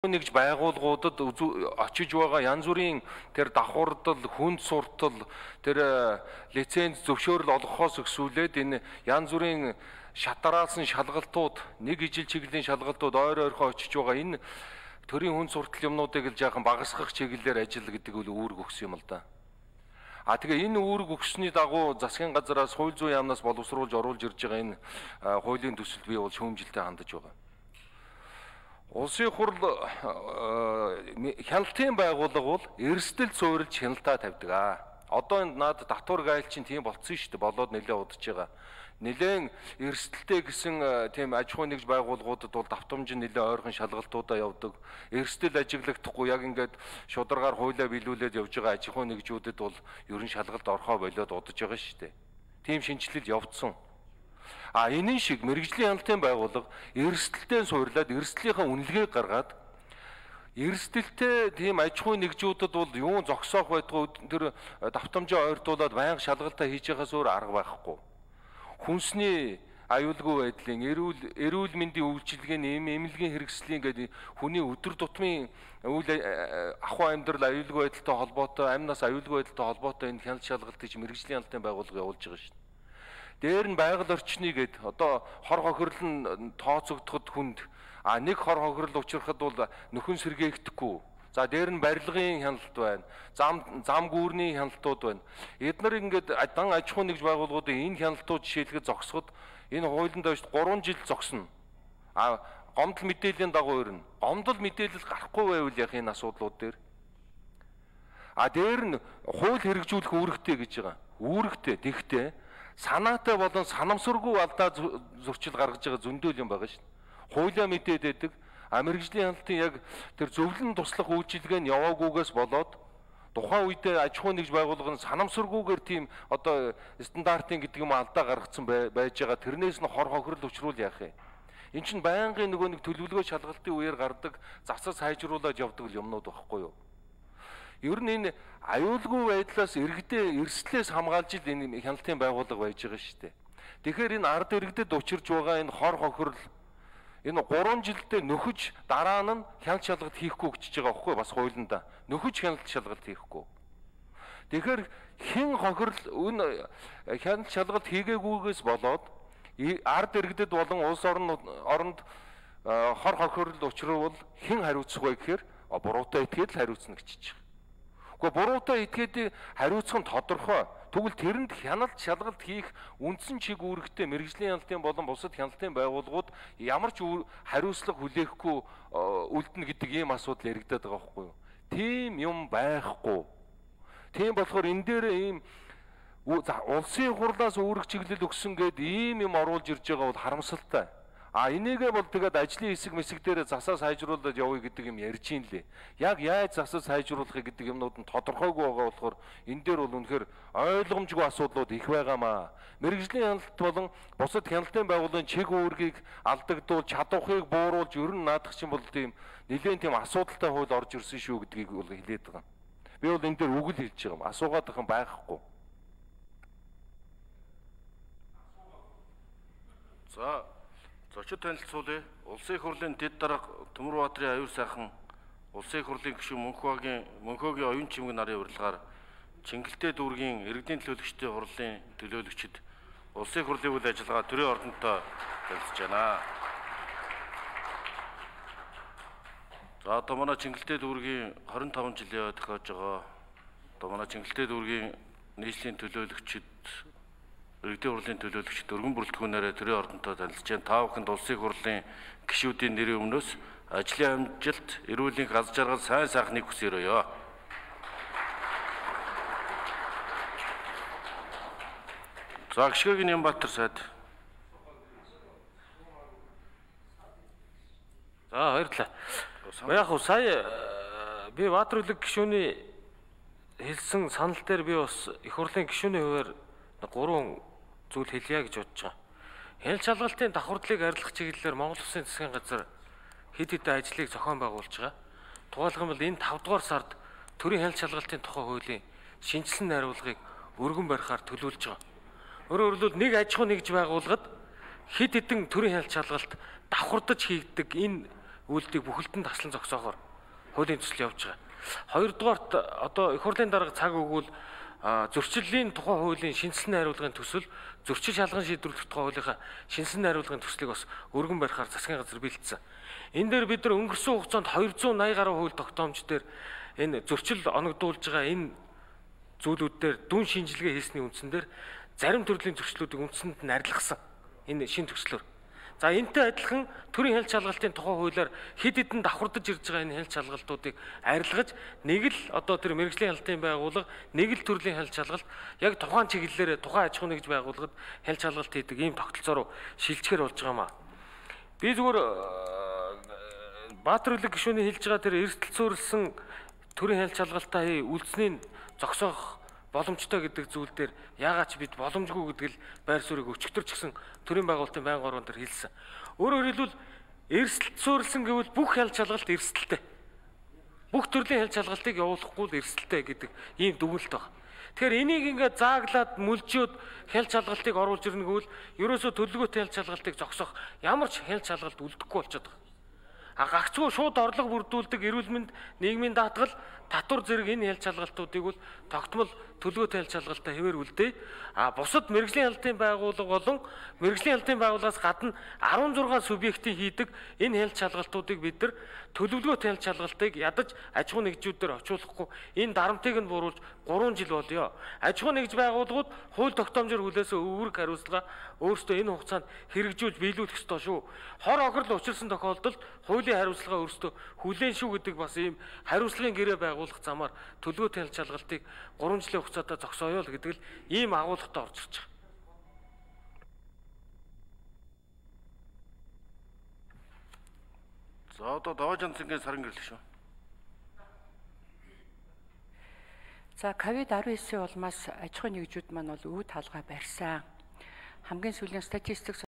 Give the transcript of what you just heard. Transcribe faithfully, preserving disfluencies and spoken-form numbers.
Нэгж байгууллагуудад очиж байгаа янз бүрийн тэр давхурдал, хүнд суртал, тэр лиценз зөвшөөрөл олгохоос өксүүлээд энэ янз бүрийн шатараалсан шалгалтууд, нэг ижил чиглэлийн шалгалтууд ойр ойрхон очиж байгаа энэ төрийн хүнд суртал юмнуудыг л жаахан багасгах чиглэлээр ажил гэдэг бол үүрэг өгсөн юм л да. А тэгээ энэ үүрэг өгсөний дагуу засгийн газараас хууль зүйн яамнаас боловсруулж оруулж ирж байгаа энэ хуулийн төсөл бий бол шүүмжилтэй хандаж байгаа. Улсын хурл хяналтын байгууллага бол эрсдэл суурилж хяналтаа тавьдаг аа. Одоо энэ наад татвар гайл чинь тийм болцсон шүү дээ. Болоод нэлээд удаж байгаа. Нэлээд эрсдэлтэй гэсэн тийм аж ахуйн нэгж байгууллагуудад бол давтамж нэлээд ойрхон шалгалтуудаа явдаг. Эрсдэл ажиглагдахгүй яг ингээд шударгаар хуулиа биелүүлээд явж байгаа аж ахуйн нэгжүүдэд бол ерөн шалгалт орхоо болоод удаж байгаа шүү дээ. Тийм шинжилэл явагдсан. А энэ шиг мэрэгжлийн хяналтын байгууллага эрсдэлтэй суурлаад эрсдлийнхаа үнэлгээг гаргаад эрсдэлтэй тийм аж ахуйн нэгжүүдэд бол юу зогсоох байдгүй тэр давтамжаа ойртуулаад байнга шалгалтаа хийж байхаас өөр арга байхгүй. Хүнсний аюулгүй байдлын эрүүл эрүүл мэндийн үйлчилгээний эм эмнэлгийн хэрэгслийн гэдэг хүний өдөр тутмын үйл ахуй амьдрал аюулгүй байдалтай холбоотой амнаас аюулгүй байдалтай холбоотой энэ хяналт шалгалтыг мэрэгжлийн хяналтын байгууллага явуулж байгаа шүү дээ. Дээр нь байгаль орчны гэд одоо хор хохирол нь тооцогдоход хүнд а нэг хор хохирол учрахад бол нөхөн сэргээхдэггүй. За дээр нь барилгын хяналт байна. Зам зам гүүрний хяналтууд байна. Эдгээр ингээд дан аж ахуйн нэгж байгууллагуудын энэ хяналтууд жишээлхэд зогсоход энэ хуулинд доош гурван жил зогсно. А гомдол мэдээллийн дагуу ирнэ. Гомдол мэдээлэл гарахгүй байвал яг энэ асуудлууд дээр. А дээр нь хууль хэрэгжүүлэх үүрэгтэй гэж байгаа. Үүрэгтэй тэгтээ санаатай болон санамсаргүй алдаа зурчил гаргаж байгаа зөндөл юм байгаа шүү дээ. Хуулиа мэдээд байдаг. А мэрэгжлийн хяналтын яг тэр зөвлөн туслах үйлчилгээ нь яваагүйгээс болоод тухайн үедээ аж ахуйн нэгж байгууллага нь санамсаргүйгээр тийм одоо стандартын гэдэг юм алдаа гаргацсан байж байгаа. Тэрнээс нь хор хохирол учруул яах юм. Энд чинь байнгын нөгөө нэг төлөвлөгөө шалгалтын үеэр гардаг засаг сайжруулаад явдаг юмнууд байхгүй юу? Ер нь энэ аюулгүй байдлаас иргэдээ эрсдлээс хамгаалж ил энэ хяналтын байгууллага байж байгаа шүү дээ. Тэгэхээр энэ ард иргэдэд учирж байгаа энэ хор хохирол энэ гурван жилдээ нөхөж дараа нь хяналт шалгалт хийхгүй гэж байгаа байхгүй бас хуулиндаа. Нөхөж хяналт шалгалт хийхгүй. Тэгэхээр хэн хохирол өн хяналт шалгалт хийгээгүйгээс болоод ард иргэдэд болон улс орн оронд хор хохирол учруулвал хэн хариуцах вэ гэхээр буруутай этгээд л хариуцна гэж чиж. Гэхдээ буруутай этгээд хариуцах нь тодорхой. Тэгвэл тэрэнд хяналт шалгалт хийх үндсэн чиг үүрэгтэй мэрэгжлийн хяналтын болон бусад хяналтын байгууллагууд ямар ч хариуцлага хүлээхгүй үлдэнэ гэдэг ийм асуудал яригдаад байгаа байхгүй юу? Тийм юм байхгүй. Тийм болохоор энэ дээр ийм улсын хурлаас үүрэг чиглэл өгсөн гээд ийм юм оруулж ирж байгаа бол харамсалтай. А энийгээ бол тэгээд ажлын хэсэг мэсэг дээр засаа сайжруулаад явъя гэдэг юм ярьж ийн лээ. Яг яаж засаа сайжруулахыг гэдэг юмнууд нь тодорхойгүй байгаа болохоор энэ дээр бол үнэхээр ойлгомжгүй асуудлууд их байгаамаа. Мэргэжлийн хяналт болон бусад хяналтын байгууллагын чиг үүргийг алдагдуул, чадварыг бууруулж ер нь наадах чинь бол тийм нэлээд тийм асуудалтай хууль орж ирсэн шүү гэдгийг бол хэлээд байгаа. Би бол энэ дээр үгэл хэлж байгаа юм. Асуугаад байгаа юм байхгүй. За зочид танилцуулъя. Улсын их хурлын дэд дарга Төмөрбаатарын аюур сайхан Улсын их хурлын гишүүн Мөнхбагийн Мөнхөөгийн оюун чимэг нарын урилгаар Чингэлтэй дүүргийн иргэдийн төлөөлөгчдийн хурлын төлөөлөгчд Улсын их хурлын үйл ажиллагаа төрийн ордонтой танилцж байна. За одоо манай Чингэлтэй дүүргийн хорин таван жилийн тохиож байгаа. Одоо манай Чингэлтэй дүүргийн нийслэлийн төлөөлөгчд иргэдийн хурлын төлөөлөгчд өргөн бүрэлдэхүүнээрээ төрийн ордонтой танилцж байна. Та бүхэнд улсын их хурлын гишүүдийн нэрийн өмнөөс ажлын амжилт, эрүүл мэндийн аз жаргал, сайн сайхныг хүсээрөөё. За гишгөөгийн Нямбатар сайд. За баярлалаа. Яг хөө сая би Баатар үлэг гишүүний хэлсэн санал дээр би бас их хурлын гишүүний хувьд гурван зүйл хэлье гэж бодож байгаа. Хяналт шалгалтын давхардлыг арилгах чиглэлээр Монгол Улсын засгийн газар хэд хэдэн ажлыг зохион байгуулж байгаа. Тухайлбал энэ тавд дугаар сард төрийн хяналт шалгалтын тухай хуулийн шинжилсэн найруулгыг өргөн барихаар төлөвлөж байгаа. Өөрөөр хэлбэл нэг аж ахуйн нэгж байгууллагад хэд хэдэн төрийн хяналт шалгалт давхардаж хийгдэг энэ үйлдэлийг бүхэлдэн таслан зогсоохоор хуулийн төсөл явж байгаа. Хоёрдугаарт одоо их хурлын дарга цаг өгвөл зөрчиллийн тухай хуулийн шинжилсэн хариулгын төсөл, зөрчил шалган шийдвэрлэх тухай хуулийнхаа шинжилсэн хариулгын төслийг бас өргөн барихаар засгийн газар бэлдсэн. Энэ дээр бид нар өнгөрсөн хугацаанд двести восемь гаруй хууль тогтоомж дээр энэ зөрчил оногдуулж байгаа энэ зүйлүүд дээр дүн шинжилгээ хийсний үндсэн дээр зарим төрлийн зөрчлүүдийг үндсэнд нь арилгасан. Энэ шин төслөөр. За энэтэй адилхан төрийн хяналт шалгалтын тухай хуулиар хэд хэдэн давхардаж ирж байгаа энэ хяналт шалгалтуудыг арилгаж нэг л одоо тэр мэргэжлийн хяналтын байгууллага нэг л төрлийн хяналт шалгалт яг тухайн чиглэлээр тухайн аж ахуй нэгж байгууллагад хяналт шалгалт хийдэг ийм тогтолцоо руу шилжчихэр болж байгаа маа. Би зүгээр Баатар Улиг гишүүний хэлж байгаа тэр эрсдэл суурилсан төрийн хяналт шалгалтаа хий үлдсэнийг зогсоох боломжтой гэдэг зүйл дээр яагаад ч бид боломжгүй гэдэг л байр суурийг өчигдөр ч гэсэн төрийн байгуулалтын байнгын оргон дээр хэлсэн. Өөрөөр хэлбэл эрсдэлт суурилсан гэвэл бүх хяналт шалгалт эрсдэлтэй. Бүх төрлийн хяналт шалгалтыг явуулахгүй л эрсдэлтэй гэдэг ийм дүгнэлт байна. Тэгэхээр энийг ингээд зааглаад мүлжөөд хяналт шалгалтыг оруулж ирнэ гэвэл ерөөсөө төлөвлөгөөтэй хяналт шалгалтыг зогсоох ямар ч хяналт шалгалт үлдэхгүй болчиход байгаа. А гагцгүй шууд орлого бүрдүүлдэг эрүүл мэнд нийгмийн даатгал татвар зэрэг энэ хяналт шалгалтуудыг бол тогтмол төлөвлөгөөтэй хяналт шалгалтаа хэвээр үлдээ. А бусад мэргэжлийн хяналтын байгууллага болон мэргэжлийн хяналтын байгууллагаас гадна арван зургаан субъектийн хийдэг энэ хяналт шалгалтуудыг бид нар төлөвлөгөөтэй хяналт шалгалтыг ядаж аж ахуй нэгжүүдээр очуулахгүй энэ дарамтыг нь бууруулж гурван жил болёо. Аж ахуй нэгж байгууллагууд хууль тогтоомжоор хүлээсэн өвөрг хариуцлага өөрсдөө энэ хугацаанд хэрэгжүүлж биелүүлэх ёстой шүү. Хор охирол учирсан тохиолдолд хуулийн хариуцлага өөрсдөө хүлээн шүү гэдэг бас ийм хариуцлагын гэрээ байгуулах замаар төлөвлөгөөтэй хяналт шалгалтыг гурван жилийн хугацаатаа зогсооё л гэдэг л ийм агуулгатай орж ирж байгаа. За одоо Даваажан цэнгийн саран гэрлэх шүү. За ковид десятдесятийн улмаас аж ахуй нэгжүүд маань бол өвд хаалгаа барьсан. Хамгийн сүүлийн статистик